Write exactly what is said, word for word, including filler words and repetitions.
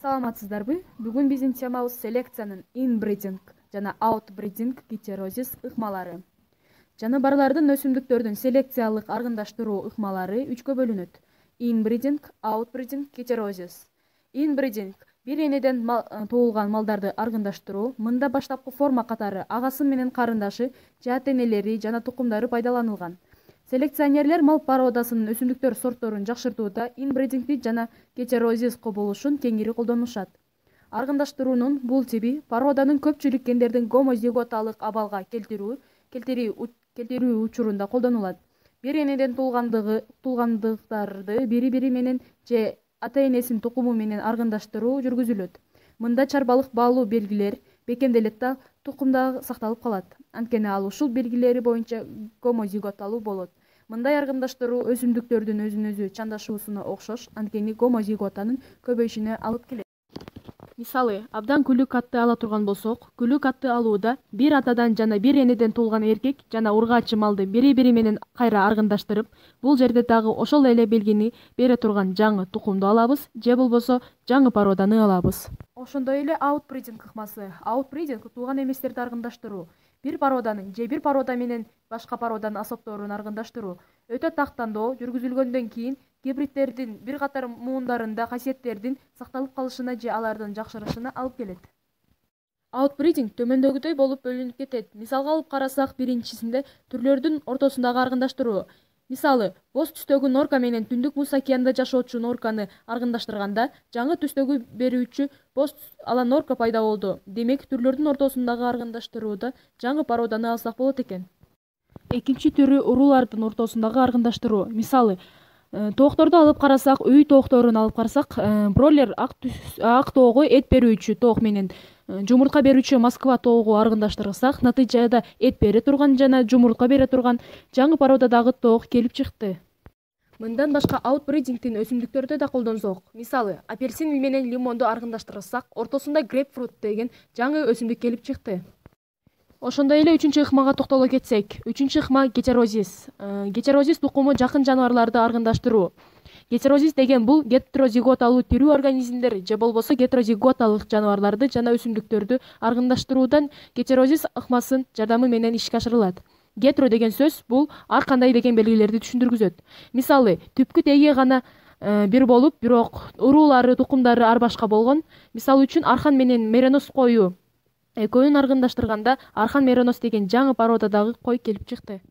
Саламатсыздарбы? Бүгүн биздин темабыз селекциянын инбридинг жана аутбридинг гетерозис ыкмалары. Жаныбарлардын өсүмдүктөрдүн селекциялык аргындаштыруу ыкмалары үчкө бөлүнөт: инбридинг, аутбридинг, гетерозис. Инбридинг бир энеден мал, туулган малдарды аргындаштыруу. Мында баштапкы форма катары агасы менен карындашы же ата-энелери жана тукумдары пайдаланылган. Селекционерлер мал породасынын өсүмдүктөр сортторун жакшыртууда инбридингди жана гетерозис кубулушун кеңири колдонушат. Аргындаштыруунун бул тиби породанын көпчүлүк гендердин гомозиготалык абалга келтирүү келтирүү учурунда колдонулат. Бир энеден туулгандыгы туулгандыктарды бири-бири менен же ата-энесинин тукуму менен аргындаштыруу жүргүзүлөт. Мында чарбалык баалуу белгилер бекемделет да тукумда сакталып калат. Анткени ал ушул белгилери боюнча гомозиготалуу болот. Мындай аргындаштыруу өсүмдүктөрдүн өзүн-өзү чандашуусуна окшош, анткени гомозиготанын көбөйүшүнө алып келет. Мисалы, абдан күлүк атты ала турган болсок, күлүк атты алууда бир атадан жана бир энеден туулган эркек жана ургаачы малды бири-бири менен кайра аргындаштырып, бул жерде дагы ошол эле белгини бере турган жаңы тукумду алабыз же болбосо жаңы породаны алабыз. Ошондой эле аутбридинг ыкмасы. Аутбридинг тууган эместерди аргындаштыруу. Бир породанын же бир порода менен башка породанын асобторун аргындаштыруу. Өтө тактандоо жүргүзүлгөндөн кийин гибридтердин бир катар муундарында касиеттердин сакталып калышына же алардын жакшырышына алып келет. Аутбридинг төмөндөгүдөй болуп бөлүнүп кетет. Мисалга алып карасак, биринчисинде түрлөрдүн ортосундагы аргындаштыруу. Мисалы, боз түстөгү норка менен түндүк Муз океанында жашоочу норканы аргындаштырганда, жаңы түстөгү берүүчү боз ала норка пайда болду. Демек, түрлөрдүн ортосундагы аргындаштырууда жаңы породаны алсак болот экен. Экинчи түрү уруулардын ортосундагы аргындаштыруу. Мисалы, тоокторду алып карасак, үй тоокторун алып карасак, бройлер ак тоого эт берүүчү тоок менен жумуртка берүүчү Москва тоогу аргындаштырсак, натыйжада эт бере турган жана жумуртка бере турган жаңы породадагы тоок келип чыкты. Мындан башка аутбридингдин өсүмдүктөрдө да колдонсок, мисалы, апельсин менен лимонду аргындаштырсак, ортосунда грейпфрут деген жаңы өсүмдүк келип чыкты. Ошондой эле үчүнчү ыкмага токтоло кетсек, үчүнчү ыкма гетерозис. Гетерозис тукуму жакын жаныбарларды аргындаштыруу. Гетерозис деген бул гетерозиготалуу тирүү организмдер же болбосо гетерозиготалык жаныбарларды жана өсүмдүктөрдү аргындаштыруудан гетерозис ыкмасынын жардамы менен ишке ашырылат. Гетеро деген сөз бул ар кандай деген белгилерди түшүндүргүзөт. Мисалы, түпкү теги гана бир болуп, бирок уруулары, тукумдары ар башка болгон. Мисалы үчүн Архан менен Меренос кою экөөнүн аргындаштырганда Архан Меренос деген жаңы породадагы кой келип чыкты.